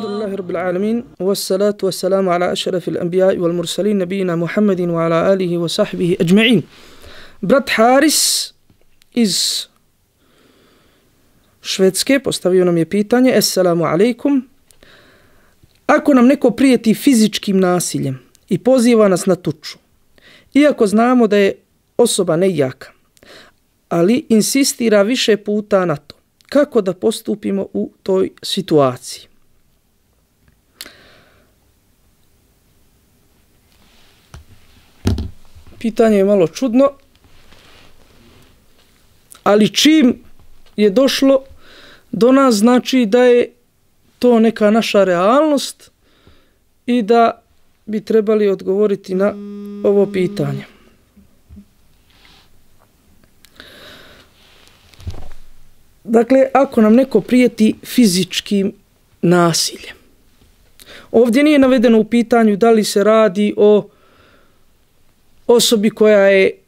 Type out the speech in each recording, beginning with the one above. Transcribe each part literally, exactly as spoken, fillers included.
Alhamdulillahi Rabbil Alamin, wassalatu wassalamu ala ašrafil anbiya'i wal mursalin, nabijina Muhammedin wa ala alihi wa sahbihi ajma'in. Brat Haris iz Švedske postavio nam je pitanje: Assalamu alaikum. Ako nam neko prijeti fizičkim nasiljem i poziva nas na tuču, iako znamo da je osoba nejaka, ali insistira više puta na to, kako da postupimo u toj situaciji? Pitanje je malo čudno, ali čim je došlo do nas, znači da je to neka naša realnost i da bi trebali odgovoriti na ovo pitanje. Dakle, ako nam neko prijeti fizičkim nasiljem, ovdje nije navedeno u pitanju da li se radi o osobi koja je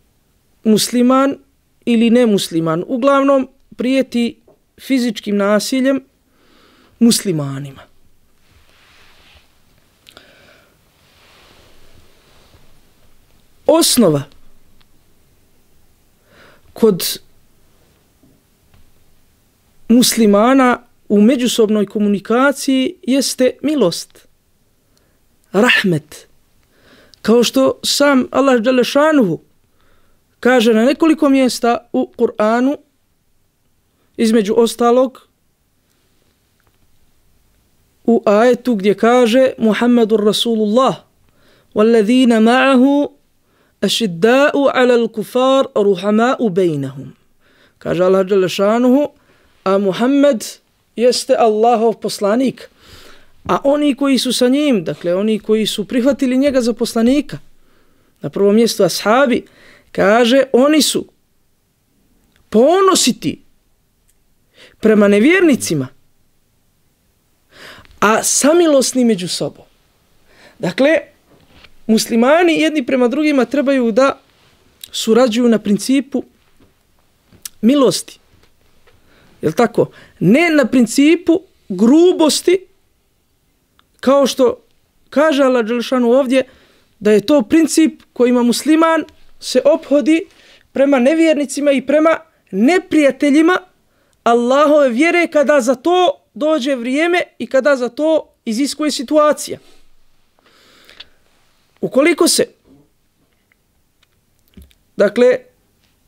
musliman ili nemusliman. Uglavnom, prijeti fizičkim nasiljem muslimanima. Osnova kod muslimana u međusobnoj komunikaciji jeste milost, rahmet. Kao što sam Allah dželle šanuhu kaže na nekoliko mjesta u Kur'anu, između ostalog u ajetu gdje kaže Muhammedur Rasulullah wallazina ma'ahu ašidda'u alal kufar ruhama'u bejnahum. Kaže Allah dželle šanuhu, a Muhammed jeste Allahov poslanik, a oni koji su sa njim, dakle oni koji su prihvatili njega za poslanika, na prvom mjestu ashabi, kaže oni su ponositi prema nevjernicima, a samilosni među sobom. Dakle, muslimani jedni prema drugima trebaju da surađuju na principu milosti. Jel tako? Ne na principu grubosti, kao što kaže Allah dželle šanuhu ovdje, da je to princip kojima musliman se ophodi prema nevjernicima i prema neprijateljima Allahove vjere kada za to dođe vrijeme i kada za to iziskuje situacija. Ukoliko se, dakle,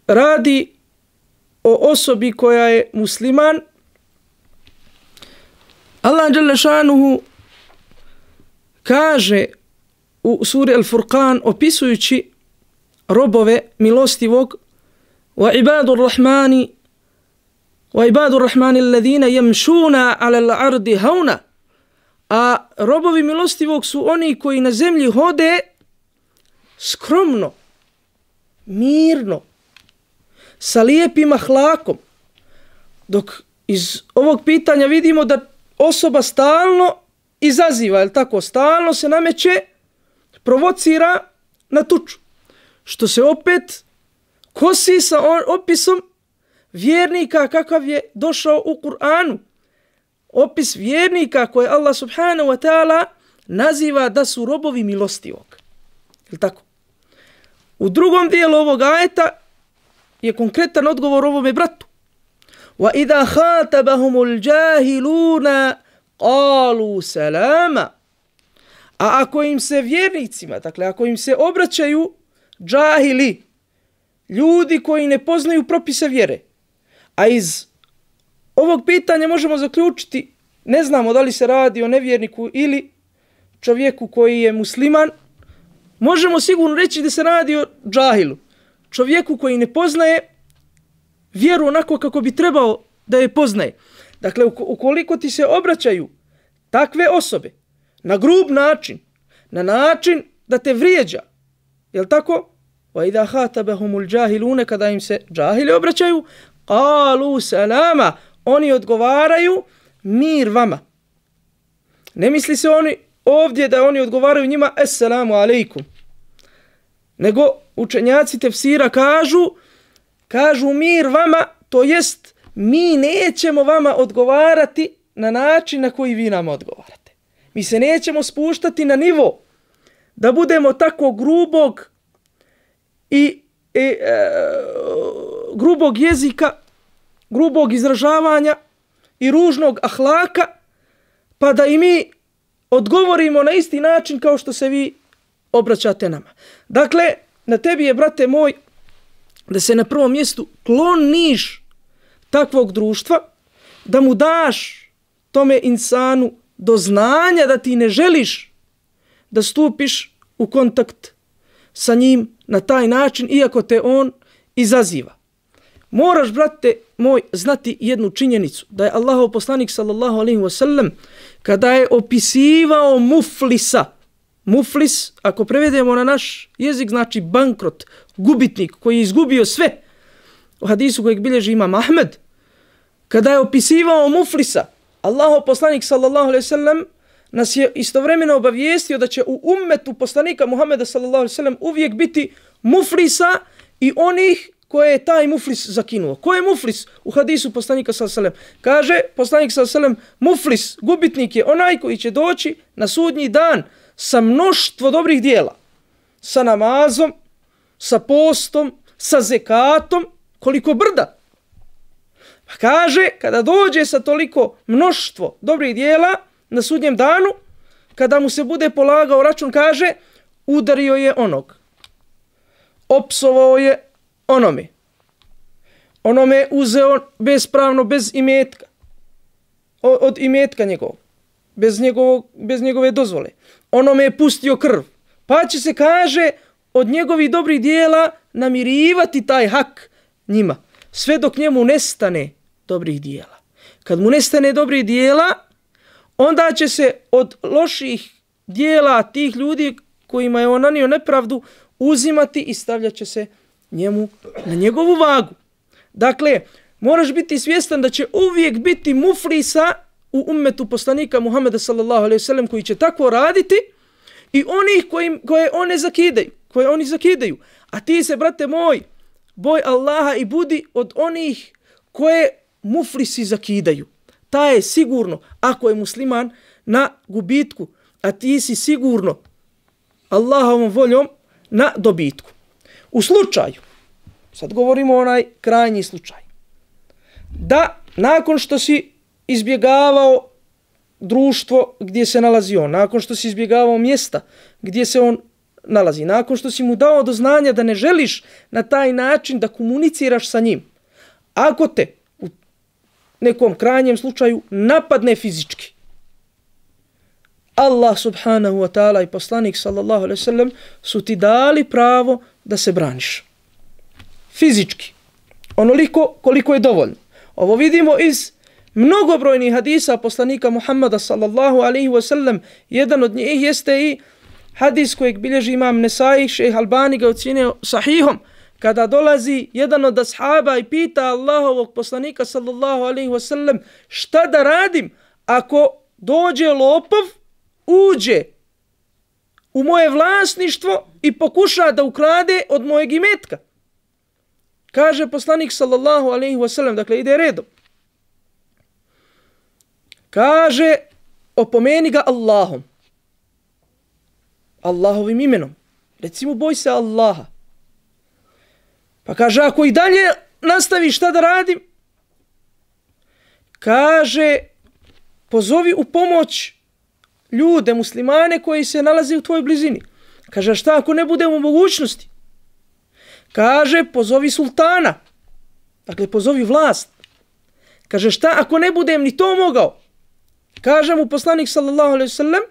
radi o osobi koja je musliman, Allah dželle šanuhu kaže u suri Al-Furqan, opisujući robove milostivog: wa ibadur rahmani wa ibadur rahmani alladhina yamshuna 'ala al-ardi hauna. A robovi milostivog su oni koji na zemlji hode skromno, mirno, sa lijepim ahlakom. Dok iz ovog pitanja vidimo da osoba stalno izaziva, je li tako, stalno se nameće, provocira na tuču, što se opet kosi sa opisom vjernika kakav je došao u Kur'anu. Opis vjernika koje Allah subhanahu wa ta'ala naziva da su robovi milostivog. Je li tako? U drugom dijelu ovog ajeta je konkretan odgovor ovome bratu. وَإِذَا خَاتَبَهُمُ الْجَاهِلُونَ قَالُوا سَلَامًا. A ako im se vjernicima, dakle ako im se obraćaju džahili, ljudi koji ne poznaju propise vjere, a iz ovog pitanja možemo zaključiti, ne znamo da li se radi o nevjerniku ili čovjeku koji je musliman, možemo sigurno reći da se radi o džahilu, čovjeku koji ne poznaje vjeru onako kako bi trebao da je poznaje. Dakle, ukoliko ti se obraćaju takve osobe na grub način, na način da te vrijeđa, jel tako? وَإِذَا خَاتَبَهُمُ الْجَاهِلُونَ, kada im se džahili obraćaju, قَالُوا سَلَامًا, oni odgovaraju mir vama. Ne misli se oni ovdje da oni odgovaraju njima Assalamu alaikum, nego učenjaci tefsira kažu, kažu mir vama, to jest mi nećemo vama odgovarati na način na koji vi nama odgovarate. Mi se nećemo spuštati na nivo da budemo tako grubog i e, e, grubog jezika, grubog izražavanja i ružnog ahlaka, pa da i mi odgovorimo na isti način kao što se vi obraćate nama. Dakle, na tebi je, brate moj, da se na prvom mjestu kloniš takvog društva, da mu daš tome insanu do znanja da ti ne želiš da stupiš u kontakt sa njim na taj način, iako te on izaziva. Moraš, brate moj, znati jednu činjenicu, da je Allahov poslanik sallallahu alejhi ve sellem kada je opisivao muflisa, muflis, ako prevedemo na naš jezik, znači bankrot, gubitnik koji je izgubio sve, u hadisu kojeg bilježi imam Ahmed, kada je opisivao muflisa, Allahov poslanik sallallahu alejhi ve sellem nas je istovremeno obavijestio da će u ummetu poslanika Muhameda sallallahu alejhi ve sellem uvijek biti muflisa i onih koje je taj muflis zakinuo. Ko je muflis? U hadisu poslanika sallallahu alejhi ve sellem kaže poslanik sallallahu alejhi ve sellem, muflis, gubitnik je onaj koji će doći na sudnji dan sa mnoštvo dobrih dijela, sa namazom, sa postom, sa zekatom, koliko brda. Pa kaže, kada dođe sa toliko mnoštvo dobrih dijela na sudnjem danu, kada mu se bude polagao račun, kaže, udario je onog, opsovao je onome, onome je uzeo bespravno, bez imetka, od imetka njegovog, bez, njegovog, bez njegove dozvole, onome je pustio krv, pa će se, kaže, od njegovih dobrih dijela namirivati taj hak njima, sve dok njemu nestane dobrih dijela. Kad mu nestane dobrih dijela, onda će se od loših dijela tih ljudi kojima je on nanio nepravdu uzimati i stavljat će se njemu na njegovu vagu. Dakle, moraš biti svjestan da će uvijek biti muflisa u ummetu poslanika Muhameda sallallahu alejhi ve sellem koji će tako raditi i onih koji, koje one zakidaju, koje oni zakidaju. A ti se, brate moj, boj Allaha i budi od onih koje muflisi zakidaju. Ta je sigurno, ako je musliman, na gubitku, a ti si sigurno Allahovom voljom na dobitku. U slučaju, sad govorimo onaj krajnji slučaj, da nakon što si izbjegavao društvo gdje se nalazi on, nakon što si izbjegavao mjesta gdje se on nalazi, nakon što si mu dao do znanja da ne želiš na taj način da komuniciraš sa njim, ako te u nekom krajnjem slučaju napadne fizički, Allah subhanahu wa ta'ala i poslanik sallallahu alejhi ve sellem su ti dali pravo da se braniš. Fizički. Onoliko koliko je dovoljno. Ovo vidimo iz mnogobrojnih hadisa poslanika Muhammada sallallahu alejhi ve sellem. Jedan od njih jeste i hadis kojeg bilježi imam Nesai, šejh Albani ga ocjenio sahihom, kada dolazi jedan od ashaba i pita Allahovog poslanika sallallahu alejhi ve sellem, šta da radim ako dođe lopov, uđe u moje vlasništvo i pokuša da ukrade od mojeg imetka. Kaže poslanik sallallahu alejhi ve sellem, dakle ide redom. Kaže, opomeni ga Allahom. Allahovim imenom. Recimo, boj se Allaha. Pa kaže, ako i dalje nastavi šta da radim, kaže, pozovi u pomoć ljude, muslimane koji se nalaze u tvojoj blizini. Kaže, šta ako ne budemo u mogućnosti? Kaže, pozovi sultana. Dakle, pozovi vlast. Kaže, šta ako ne budem ni to mogao? Kaže mu poslanik sallallahu alejhi ve sellem,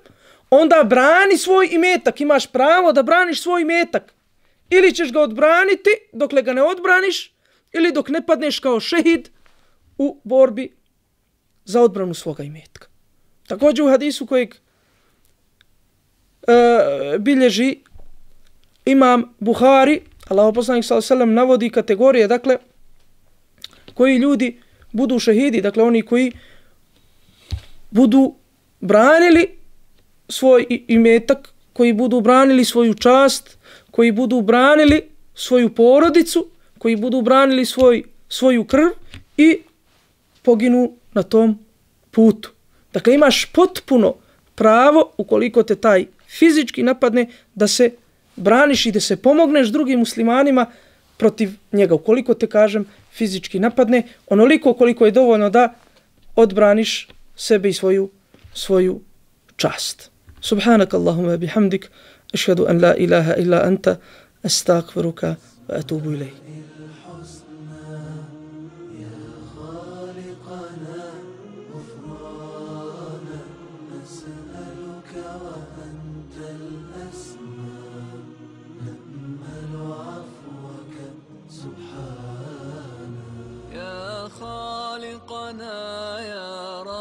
onda brani svoj imetak. Imaš pravo da braniš svoj imetak. Ili ćeš ga odbraniti dokle ga ne odbraniš, ili dok ne padneš kao šehid u borbi za odbranu svoga imetka. Također u hadisu kojeg e, bilježi imam Buhari, Allahov poslanik sallallahu alejhi ve sellem navodi kategorije, dakle, koji ljudi budu šehidi, dakle oni koji budu branili svoj imetak, koji budu branili svoju čast, koji budu branili svoju porodicu, koji budu branili svoj, svoju krv i poginu na tom putu. Dakle, imaš potpuno pravo, ukoliko te taj fizički napadne, da se braniš i da se pomogneš drugim muslimanima protiv njega. Ukoliko te, kažem, fizički napadne, onoliko koliko je dovoljno da odbraniš sebe i svoju, svoju čast. Subhanak Allahumma bihamdik, ašhadu an la ilaha illa anta, astagfiruka wa atubu ilayk. خالقنا يا رب